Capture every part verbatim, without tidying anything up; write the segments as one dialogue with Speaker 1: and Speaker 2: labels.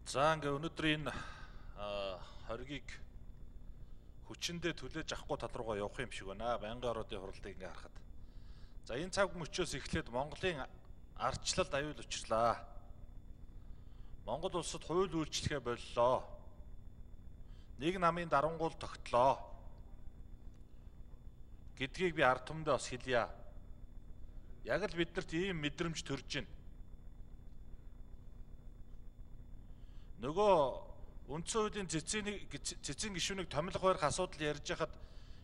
Speaker 1: За ингээ өнөөдрийн хоргийг хүчиндээ түлээж авахгүй тал руугаа явах юм шиг байна. Байнгын ороодын хуралдыг ингээ харахад. За энэ цаг мөчөөс эхлээд Монголын ардчлалд аюул учрлаа. Монгол улсад хууль үйлчлэхээ боллоо. Нэг намын дарангуул тогтлоо гэдгийг би ард түмэндээ бас хэлье. Яг л биднэрт ийм мэдрэмж төрж байна. Нөгөө үндсэн хуулийн цэцгийн цэцгийн гишүүнийг томилох барих асуудал ярьж хахад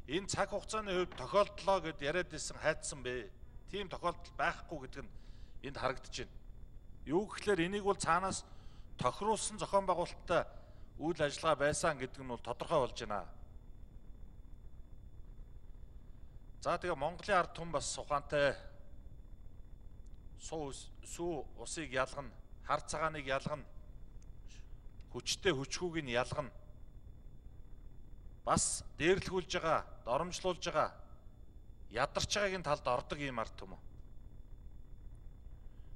Speaker 1: энэ цаг хугацааны хувьд тохиолдлоо гэд яриад исэн хайдсан бэ. Тийм тохиолдол байхгүй гэдэг нь энд харагдаж байна. Юу гэхээр энийг бол цаанаас тохируулсан зохион байгуулалттай үйл ажиллагаа байсан гэдэг нь бол тодорхой болж байна. За тэгээ Монголын ард түмэн бас ухаантай суу сүү усыг ялгана, хар цагааныг ялгана, хүчтэй хүчгүйг нь ялгана. Бас дээрлэхүүлж байгаа, доромжлуулж байгаа, ядарч байгаагийн талд ордог юм ард түмэн.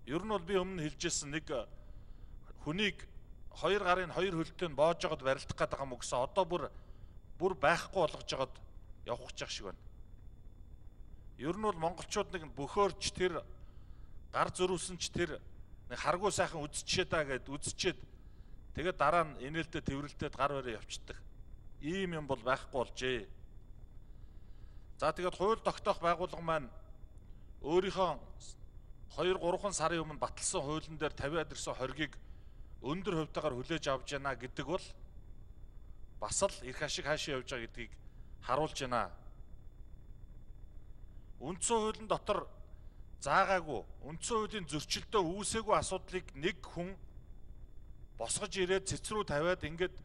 Speaker 1: Ер нь бол би өмнө хэлжсэн нэг хүнийг хоёр гарын хоёр хөлтөнд боож жогод барилдах гэдэг юм гэсэн одоо бүр бүр байхгүй болгож жогод явах гэж шиг байна. Ер нь бол монголчууд нэг бөхөөрч тэр гар зөрүүлсэнч тэр нэг харгуй сайхан үзчихээ даа гэд үзчихэд тэгээд дараа нь инээлтэд тэрвэрлтэд гар бараа явцдаг. Ийм юм бол байхгүй болжээ. За тэгээд хууль тогтоох байгууллага маань өөрийнхөө хоёр гурван сарын өмнө баталсан хуулийн дээр тавиад ирсэн хоргийг өндөр хувьтайгаар хүлээж авч яана гэдэг бол бас л эрх ашиг хаашаа явж байгаа гэдгийг харуулж байна. Үндсэн хуулийн дотор заагаагүй, үндсэн хуулийн зөрчилдөө үүсээгүй асуудлыг нэг хүн босгож ирээд цэцрүү тавиад ингээд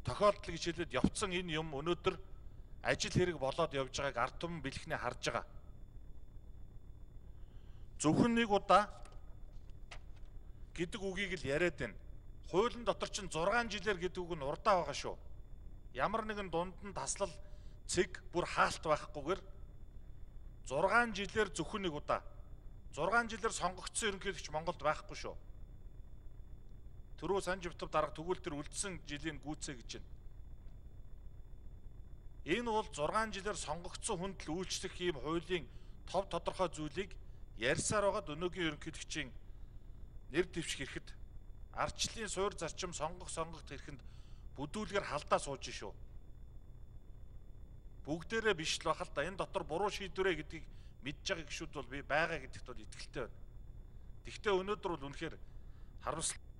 Speaker 1: тохиолдол гэж хэлээд явцсан энэ юм өнөөдөр ажил хэрэг болоод явж байгааг ард түмэн бэлхний харж байгаа. Зөвхөн нэг удаа гэдэг үгийг л яриад байна. Хуулийн дотор чинь зургаан жилээр гэдэг үг нь урдаа байгаа шүү. Ямар нэгэн дунд нь таслал цэг бүр хаалт байхгүйгээр зургаан жилээр зөвхөн нэг удаа. зургаан жилээр сонгогдсон ерөнхийлөгч Монголд байхгүй шүү. Түрүү Санживтав дарга тэгвэл тэр үлдсэн жилийн гүйцээ гэж байна. Энэ бол зургаан жилээр сонгогдсон хүнд л үйлчлэх ийм хуулийн тов тодорхой зүйлийг ярьсаар байгаад өнөөгийн ерөнхийлөгчийн нэр дэвших хэрэгэд ардчлалын суурь зарчим сонгох сонгогд хэрэгэнд бүдүүлгээр халдаа сууж шүү. Бүгдээрээ биш л бахал да энэ дотор буруу шийдвэрээ гэдгийг мэдж байгаа гişүүд бол би байгаа гэдэгт бол итгэлтэй байна. Тэгвэл өнөөдөр бол үнэхээр харамсалтай